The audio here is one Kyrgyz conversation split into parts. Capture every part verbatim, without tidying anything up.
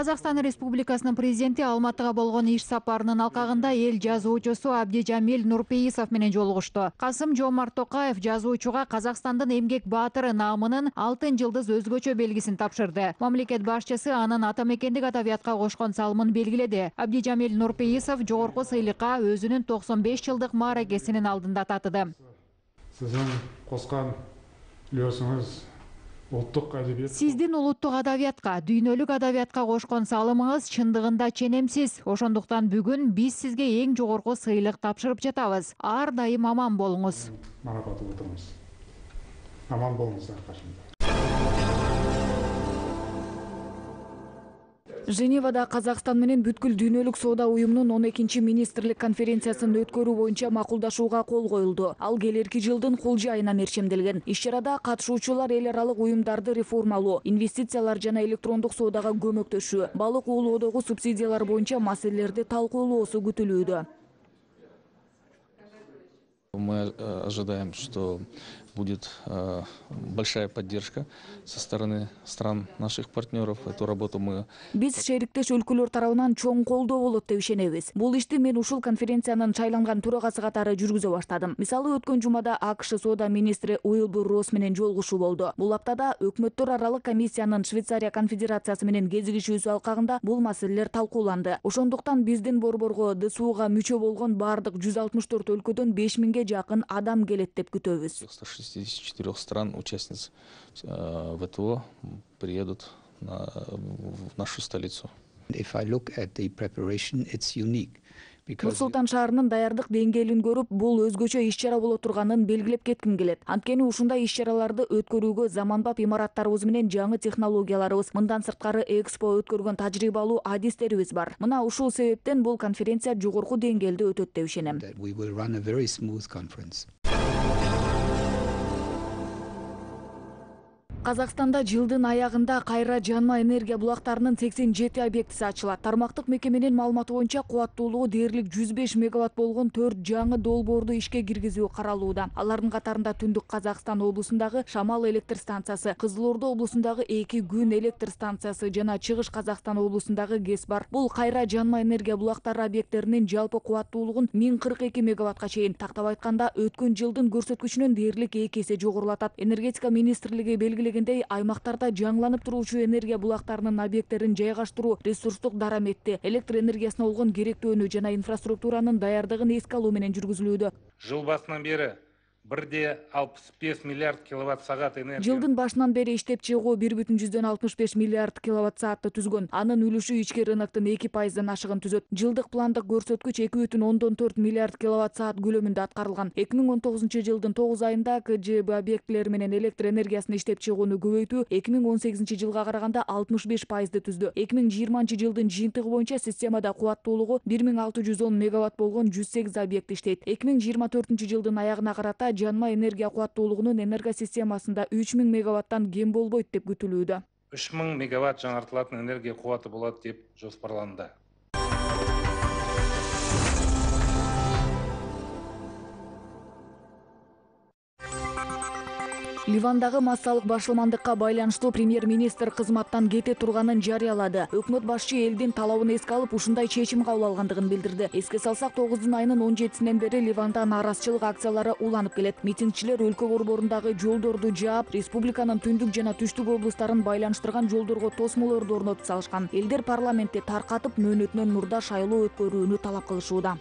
Казакстан Республикасынын президенти Алматыга болгон иш сапарынын алкагында эл жазуучусу Абдижамил Нурпейисов менен жолугушту. Касым-Жомарт Токаев жазуучуга Казакстандын эмгек баатыры наамынын алтын жылдыз өзгөчө белгисин тапшырды. Мамлекет башчысы анын ата мекендик адабиятка кошкон салымын белгиледи. Абдижамил Нурпейисов жогорку сыйлыкка өзүнүн токсон беш жылдык мааракесинин алдында татыды. Сиздин коскон үлөсүңүз улуттук адабият. Сиздин улуттук адабиятка, дүйнөлүк адабиятка кошкон салымыңыз чындыгында ченемсиз. Ошондуктан бүгүн биз сизге эң жогорку сыйлык тапшырып жатабыз. Ар дайым аман болуңуз. Марапаттап отурабыз. Аман болуңуз аркашында. Женевада Казакстан менен бүткүл дүйнөлүк соода уюмунун он экинчи министрлик конференциясын өткөрүү боюнча макулдашууга кол коюлду. Ал келерки жылдын кулж айына мерчемделген. Иш-чарада катышуучулар эл аралык уюмдарды реформалоо, инвестициялар жана электрондук соодага көмөктөшүү, балык уулоодогу субсидиялар боюнча маселелерди талкуулоосу күтүлүүдө. Мы ожидаем, что будет э, большая поддержка со стороны стран наших партнеров. Эту работу мы... Биз шериктеш өлкөлөр тарабынан чоң колдоо болот деп ишенебиз. Бул ишти мен ушул конференциянын шайланган төрагасы катары жүргүзө баштадым. Мисалы, өткөн жумада АКШ соода министри Уилбур Росс менен жолугушуу болду. Бул аптада өкмөттөр аралык комиссиянын Швейцария конфедерациясы менен кезигишүүсү алкагында бул маселелер талкууланды. Ошондуктан биздин борборго ДСУга мүчө болгон бардык жүз алтымыш төрт өлкөдөн беш миңге жакын адам келет деп күтөбүз. шестидесяти четырёх стран участниц э, ВТО приедут на, в нашу столицу. If I look at the preparation, it's unique. Нур-Султан шаарынын даярдык деңгээлин көрүп, бул өзгөчө иш-чара боло турганын белгилеп кетким келет. Анткени ушундай иш-чараларды өткөрүүгө заманбап имараттарыбыз менен жаңы технологияларыбыз, мындан сырткары экспо өткөргөн тажрыйбалуу адистерибиз бар. Мына ушул себептен бул конференция жогорку деңгээлде өтөт деп ишенем. We will run a very smooth conference. Казакстанда жылдын аягында кайра жанма энергия булактарынын сексен жети объектиси ачылат. Тармактык мекеменин маалыматы боюнча кубаттуулугу дээрлик жүз беш мегаватт болгон төрт жаңы долбоорду ишке киргизүү каралууда. Алардын катарында Түндүк Казакстан облусундагы Шамал электр станциясы, Кызыл Ордо облусундагы эки күн электр станциясы жана Чыгыш Казакстан облусундагы ГЭС бар. Бул кайра жанма энергия булактары объекттеринин жалпы кубаттуулугун миң кырк эки мегаваттка чейин, тактап айтканда өткөн жылдын көрсөткүчүнөн дээрлик эки эсе жогорулатат. Энергетика министрлиги белгилеген аймактарда жаңыланып туруучу энергия булактарынын объекттерин жайгаштыруу ресурстук дараметти, электр энергиясына болгон керектөөнү жана инфраструктуранын даярдыгын эске алуу менен жүргүзүлүүдө. Жыл басынан бери бир де алпыс беш миллиард киловатт саат энергия. Жылдын башынан бери иштеп чыгуу бир бүтүн жүздөн алтымыш беш миллиард киловатт саатты түзгөн. Анын үлүшү ички рыноктун эки пайыздан ашыгын түзөт. Жылдык пландык көрсөткүч эки бүтүн ондон төрт миллиард киловатт саат көлөмүндө аткарылган. эки миң он тогузунчу жылдын тогуз айында КЖБ объектилери менен электр энергиясын иштеп чыгууну көбөйтүү эки миң он сегизинчи жылга караганда алтымыш беш пайызды түздү. эки миң жыйырманчы жылдын жыйынтыгы боюнча системада кубаттуулугу бир миң алты жүз он мегаватт болгон жүз сегиз объект иштейт. эки миң жыйырма төртүнчү жылдын аягына карата жанма энергия кубаттуулугунун энергосистемасында үч миң мегаваттан кем болбойт деп күтүлүүдө. үч миң мегаватт жаңартылатын энергия кубаты болот деп жоспарланды. Ливандагы массалык башылмандыкка байланыштуу премьер-министр кызматтан кете турганын жарыялады. Өкмөт башчы элдин талабын эске алып, ушундай чечим кабыл алгандыгын билдирди. Эске салсак, тогуздун айынын он жетисинен бери Ливанда нааразычылык акциялары уланып келет. Митингчилер өлкө борборундагы жолдорду жаап, республиканын түндүк жана түштүк облустарын байланыштырган жолдорго тосмолорду орнотуп салышкан. Элдер парламентти таркатып, мөөнөтүнөн мурда шайлоо өткөрүүнү талап кылышууда.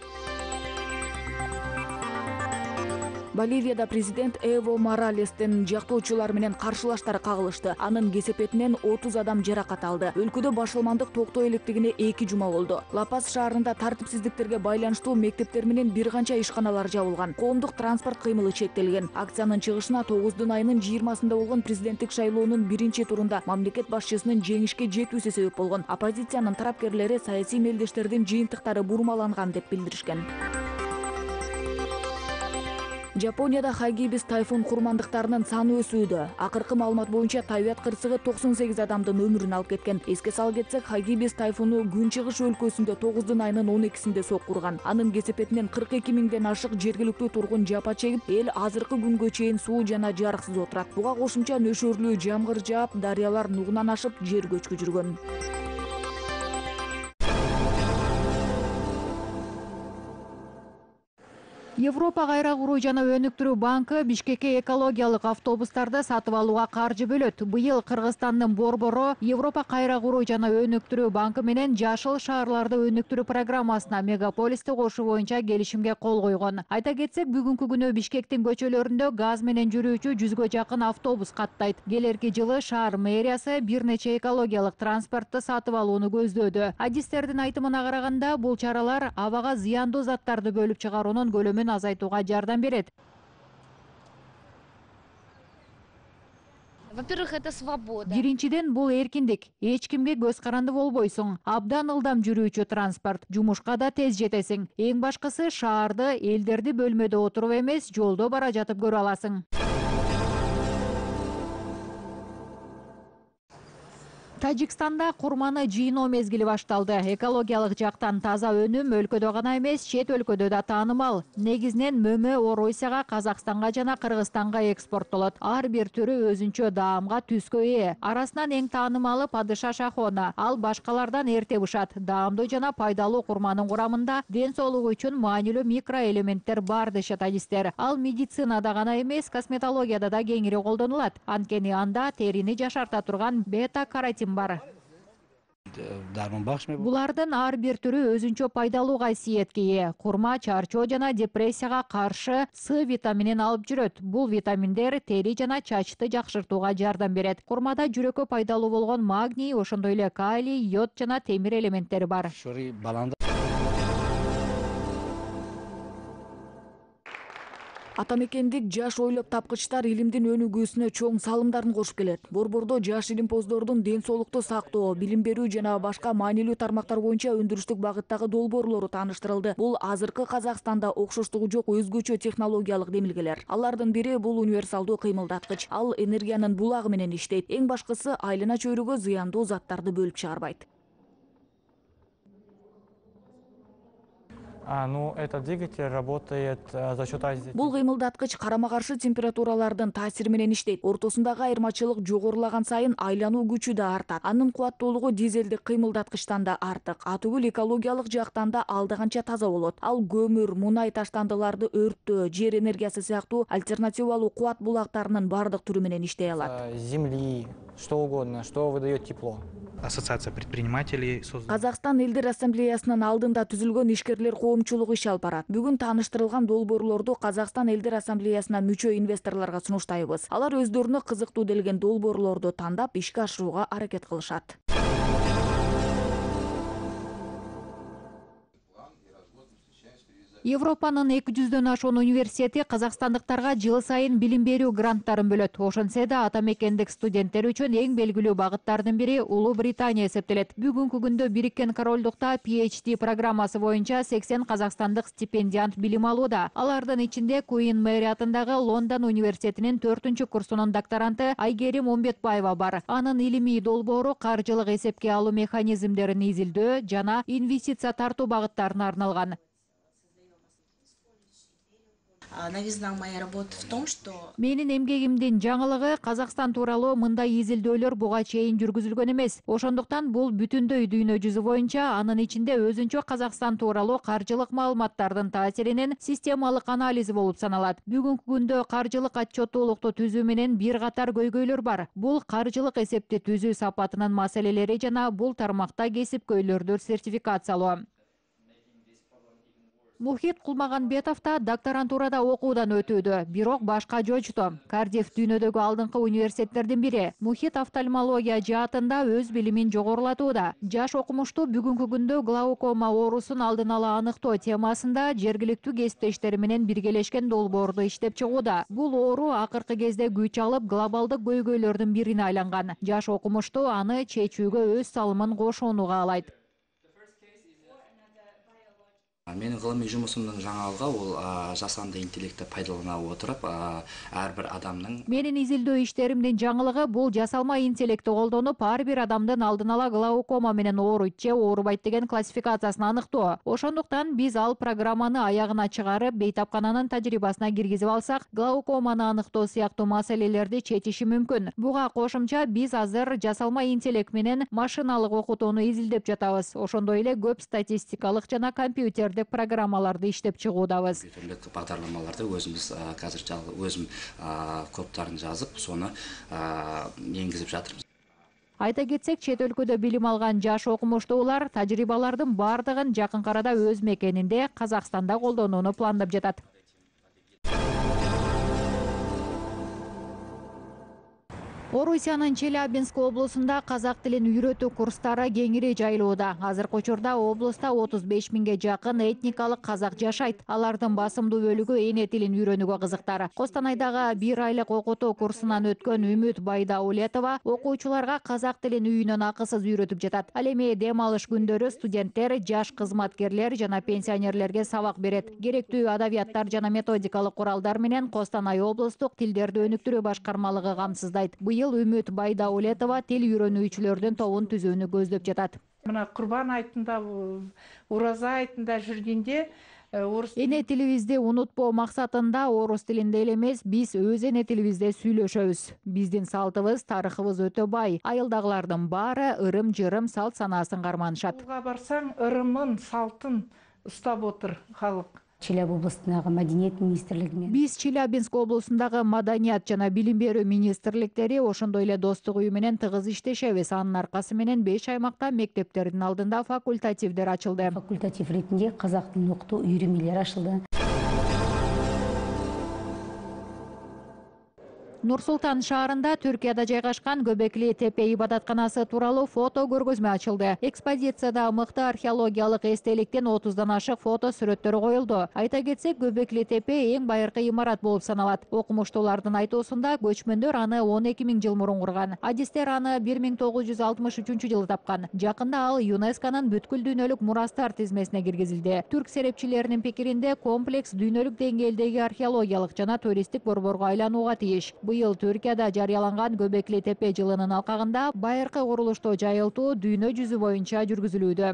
Боливияда президент Эво Моралестин жактоочулар менен каршылаштар кагылышты. Анын кесепетинен отуз адам жаракат алды. Өлкөдө башылмандык токтой электигине эки жума болду. Ла-Пас шаарында тартипсиздиктерге байланыштуу мектептер менен бир канча ишканалар жабылган. Коомдук транспорт кыймылы чектелген. Акциянын чыгышына тогуздун айынын жыйырмасында болгон президенттик шайлоонун биринчи турунда мамлекет башчысынын жеңишке жетүүсү себеп болгон. Оппозициянын тарапкерлери саясий мелдештердин жыйынтыктары бурмаланган деп билдиришкен. Жапонияда Хагибис тайфун курмандыктарынын саны өсүүдө. Акыркы маалымат боюнча табият кырсыгы токсон сегиз адамдын өмүрүн алып кеткен. Эске салып кетсек, Хагибис тайфуну Күнчыгыш өлкөсүндө тогуздун айынын он экисинде соккурган. Анын кесепетинен кырк эки миңден ашык жергиликтүү тургун жапа чегип, эл азыркы күнгө чейин суу жана жарыксыз отурат. Буга кошумча нөшөрлүү жамгыр жаап, дарыялар нугунан ашып, жер көчкү жүргөн. Европа кайра куруу жана өнүктүрүү банкы Бишкекке экологиялык автобустарды сатып алууга каржы бөлөт. Быйыл Кыргызстандын Борбору Европа кайра куруу жана өнүктүрүү банкы менен жашыл шаарларды өнүктүрүү программасына мегаполисти кошуу боюнча келишимге кол койгон. Айта кетсек, бүгүнкү күнү Бишкектин көчөлөрүндө газ менен жүрүүчү жүзгө жакын автобус каттайт. Келерки жылы шаар мэриясы бир нече экологиялык транспортты сатып алууну көздөөдө. Адистердин айтымына караганда, бул чаралар абага зыяндуу заттарды бөлүп чыгаруунун көлөмүн азайтууга жардам берет. Во-первых, это свобода. Биринчиден, бул эркиндик. Эч кимге көз каранды болбойсуң. Абдан ылдам жүрүүчү транспорт. Жумушка да тез жетесиң. Эң башкысы, шаарды, элдерди бөлмөдө отуруп эмес, жолдо бара жатып көрө аласың. Тажикстанда курманы жыйноо мезгили башталды. Экологиялык жактан таза өнүм өлкөдө гана эмес, чет өлкөдө да таанымал. Негизинен мөмө Оросияга, Казакстанга жана Кыргызстанга экспорттолот. Ар бир түрү өзүнчө даамга, түскө ээ. Арасынан эң таанымалы падыша шахона. Ал башкалардан эрте бышат. Даамдуу жана пайдалуу курманын курамында ден соолук үчүн маанилүү микроэлементтер бар дешет адистер. Ал медицинада гана эмес, косметологияда да кеңири колдонулат. Анткени анда терини жашарта турган бета-каротин бар. Булардын ар бир түрү өзүнчө пайдалуу кайсиетке ээ. Курма чарчоо жана депрессияга каршы С витаминин алып жүрөт. Бул витаминдер тери жана чачты жакшыртууга жардам берет. Курмада жүрөккө пайдалуу болгон магний, ошондой эле калий, йод жана темир элементтери бар. Ата мекендик жаш ойлоп тапкычтар илимдин өнүгүүсүнө чоң салымдарын кошуп келет. Борбордо жаш илимпоздордун ден соолукту сактоо, билим берүү жана башка маанилүү тармактар боюнча өндүрүштүк багыттагы долбоорлору тааныштырылды. Бул азыркы Казакстанда окшоштугу жок өзгөчө технологиялык демилгелер. Алардын бири бул универсалдуу кыймылдаткыч. Ал энергиянын булагы менен иштейт. Эң башкысы, айлана чөйрөгө зыяндуу заттарды бөлүп чыгарбайт. А, ну, этот двигатель работает а, за счет разницы. Бул кыймылдаткыч карама-каршы температуралардын таасири менен иштейт. Ортосундагы айырмачылык жогорулаган сайын айлануу күчү да артат. Анын кубаттуулугу дизелдик кыймылдаткычтан да артык. Атүгүл экологиялык жактан да алда канча таза болот. Ал көмүр, мунай таштандыларды өрттөө, жер энергиясы сыяктуу альтернативалуу кубат булактарынын бардык түрү менен иштей алат. Земли, что угодно, что выдает тепло. Ассоциация предпринимателей создана. Казакстан элдер ассамблеясынын алдында түзүлгөн ишкерлер коомчулугу иш алып барат. Бүгүн тааныштырылган долбоорлорду Казакстан элдер ассамблеясына мүчө инвесторлорго сунуштайбыз. Алар өздөрүнө кызыктуу делген долбоорлорду тандап ишке ашырууга аракет кылышат. Европанын эки жүздөн ашуун университети казакстандыктарга жыл сайын билим берүү гранттарын бөлөт. Ошентсе да ата мекендик студенттер үчүн эң белгилүү багыттардын бири Улуу Британия эсептелет. Бүгүнкү күндө Бириккен Королдукта пи эйч ди программасы боюнча сексен казакстандык стипендиант билим алууда. Алардын ичинде Куин Мэри атындагы Лондон университетинин төртүнчү курсунун докторанты Айгерим Омбетбаева бар. Анын илимий долбоору каржылык эсепке алуу механизмдерин изилдөө жана инвестиция тартуу багыттарына арналган. Новизна моей работы в том, что Менин эмгегимдин жаңылыгы Казакстан тууралуу мындай изилдөөлөр буга чейин жүргүзүлгөн эмес. Ошондуктан бул бүтүндөй дүйнө жүзү боюнча анын ичинде өзүнчө Казакстан тууралуу каржылык маалыматтардын таасиринин системалык анализи болуп саналат. Бүгүнкү күндө каржылык отчеттуулукту түзүү менен бир катар көйгөйлөр бар. Бул каржылык эсепти түзүү сапатынын маселелери жана бул тармакта кесипкөйлөрдү сертификациялоо. Мухит Кулмаганбетов да докторантурада окуудан өтүүдө, бирок башка жочто. Кардиф дүйнөдөгү алдыңкы университеттердин бири. Мухит офтальмология жаатында өз билимин жогорулатууда. Жаш окумуштуу бүгүнкү күндө глаукома оорусун алдын ала аныктоо темасында жергиликтүү кесиптештери менен биргелешкен долбоорду иштеп чыгууда. Бул оору акыркы кезде күч алып глобалдык көйгөйлөрдүн бирине айланган. Жаш окумуштуу аны чечүүгө өз салымын кошууну каалайт. Менин гылымый жумушумдун жаңалыгы ол жасанды интеллектти пайдалана отуруп ар бир адамдын Менин изилдөө иштеримдин жаңылыгы бул жасалма интеллектти колдонуп ар бир адамдын алдын ала глаукома менен ооруйт же оорубайт деген классификациясын аныктоо. Ошондуктан биз ал программаны аягына чыгарып, бейтапкананын тажрыйбасына киргизип алсак, глаукоманы аныктоо сыяктуу маселелерди чечиши мүмкүн. Буга кошумча биз азыр жасалма интеллект менен машиналык окутууну изилдеп жатабыз. Ошондой эле көп статистикалык жана компьютердик компьютерлик программаларды иштеп чыгуудабыз. Компьютерлик багдарламаларды өзүбүз азыр жалгы өзүм коддорун жазып, сону энгизип жатырбыз. Айта кетсек, чет өлкөдө билим алган жаш окумуштуулар тажрыйбалардын бардыгын жакын арада өз мекенинде Казакстанда колдонууну пландап жатат. Орусиянын Челябинск облусунда казак тилин үйрөтүү курстары кеңири жайылууда. Азыркы учурда облуста отуз беш миңге жакын этникалык казак жашайт. Алардын басымдуу бөлүгү эне тилин үйрөнүүгө кызыктар. Костанайдагы бир айлык окутуу курсунан өткөн Үмүт Байдаулетова окуучуларга казак тилин үйүнөн акысыз үйрөтүп жатат. Ал эми дем алыш күндөрү студенттер, жаш кызматкерлер жана пенсионерлерге сабак берет. Керектүү адабияттар жана методикалык куралдар менен Костанай облустук тилдерди өнүктүрүү башкармалыгы камсыздайт. Быйыл Үмүт Байдаулетова тил үйрөнүүчүлөрдүн тобун түзүүнү көздөп жатат. Мына Курбан айтында, Ураза айтында жүргенде орус эне тилибизди унутпоо максатында орус тилинде эле эмес, биз өз эне тилибизде сүйлөшөбүз. Биздин салтыбыз, тарыхыбыз өтө бай. Айылдагылардын баары ырым-жырым, салт санаасын карманышат. Буга барсаң, ырымын, салтын устап отур халык. Челябі областындағы Мәдениет министрлігімен. Биз Челябинск облусундагы Маданият жана билим берүү министрликтери ошондой эле достук үйү менен тыгыз иштешебиз. Анын аркасы менен беш аймакта мектептердин алдында факультативдер ачылды. Факультатив ретинде казак тилин окутуу үйрүмөлөр ачылды. Нур-Султан шаарында Түркияда жайгашкан Göbekli Tepe ибадатканасы тууралуу фото көргөзмө ачылды. Экспозицияда мыкты археологиялык эстеликтен отуздан ашык фото сүрөттөрү коюлду. Айта кетсек, Göbekli Tepe эң байыркы имарат болуп саналат. Окумуштуулардын айтуусунда көчмөндөр аны он эки миң жыл мурун курган. Адистер аны бир миң тогуз жүз алтымыш үчүнчү жылы тапкан. Жакында ал ЮНЕСКОнун бүткүл дүйнөлүк мурастар тизмесине киргизилди. Түрк серепчилеринин пикиринде комплекс дүйнөлүк деңгээлдеги археологиялык жана туристтик борборго айланууга тийиш. Быйыл Түркияда жарыяланган Göbekli Tepe жылынын алкагында байыркы курулушту жайылтуу дүйнө жүзү боюнча жүргүзүлүүдө.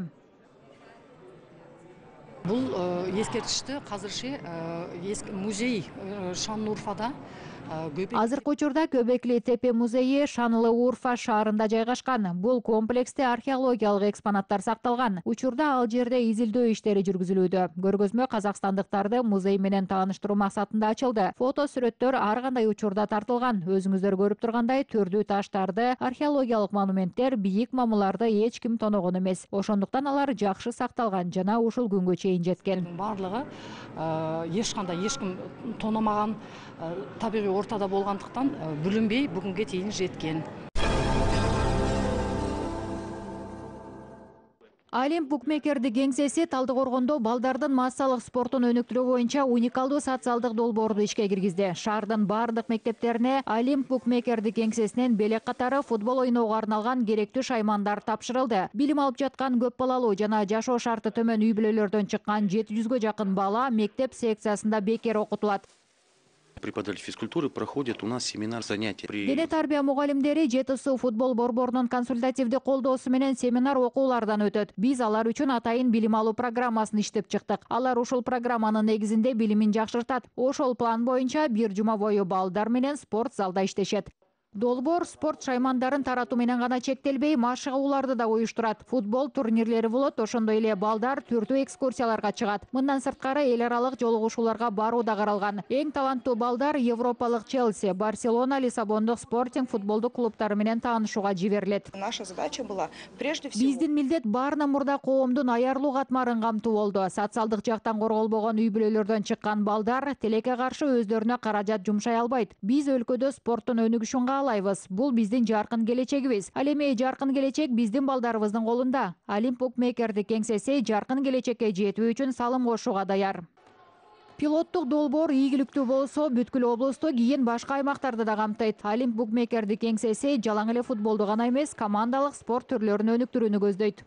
Бул эскерткичти азырчы музей Шанлы-Урфада. Азыркы учурда Göbekli Tepe музейи Шанлы-Урфа шаарында жайгашкан. Бул комплексте археологиялык экспонаттар сакталган. Учурда ал жерде изилдөө иштери жүргүзүлүүдө. Көргөзмө казакстандыктарды музей менен тааныштыруу максатында ачылды. Фото сүрөттөр ар кандай учурда тартылган. Өзүңүздөр көрүп тургандай, түрдүү таштарды, археологиялык монументтер, бийик мамыларды эч ким тоногон эмес. Ошондуктан алар жакшы сакталган жана ушул күнгө чейин жеткен. Барлыгы эч кандай эч ким тономаган, табигый ортада болгондуктан бүлүнбөй бүгүнгө чейин жеткен. Алим букмекердик кеңсеси Талдыкоргондо балдардын массалык спортун өнүктүрүү боюнча уникалдуу социалдык долбоорду ишке киргизди. Шаардын бардык мектептерине Алим букмекердик кеңсесинен белек катары футбол ойноого арналган керектүү шаймандар тапшырылды. Билим алып жаткан көп балалуу жана жашоо шарты төмөн үй бүлөлөрдөн чыккан жети жүзгө жакын бала мектеп секциясында бекер окутулат. Преподаватели физкультуры проходят у нас семинар занятия. Дене тарбия мугалимдери Жети Суу футбол борборунун консультативдик колдоосу менен семинар окуулардан өтөт. Биз алар үчүн атайын билим алуу программасын иштеп чыктык. Алар ушул программанын негизинде билимин жакшыртат. Ошол план боюнча бир жума бою балдар менен спорт залда иштешет. Долбоор спорт шаймандарын таратуу менен гана чектелбей, машыгууларды да уюштурат. Футбол турнирлери болот, ошондой эле балдар түрдүү экскурсияларга чыгат. Мындан сырткары эл аралык жолугушууларга баруу да каралган. Эң таланттуу балдар европалык Челси, Барселона, Лиссабондук спортинг футболдук клубтары менен таанышууга жиберилет. Наша задача была прежде всего. Биздин милдет баарынан мурда коомдун аярлуу катмарын камтуу болду. Социалдык жактан корголбогон үй бүлөлөрдөн чыккан балдар тилекке каршы өздөрүнө каражат жумшай албайт. Биз өлкөдө спорттун өнүгүшүн каалайбыз. Бул биздин жаркын келечегибиз. Ал эми жаркын келечек биздин балдарыбыздын колунда. Алим букмекердик кеңсеси жаркын келечекке жетүү үчүн салым кошууга даяр. Пилоттук долбоор ийгиликтүү болсо, бүткүл облусту кийин башка аймактарды да камтыйт. Алим букмекердик кеңсеси жалаң эле футболду гана эмес, командалык спорт түрлөрүн өнүктүрүүнү көздөйт.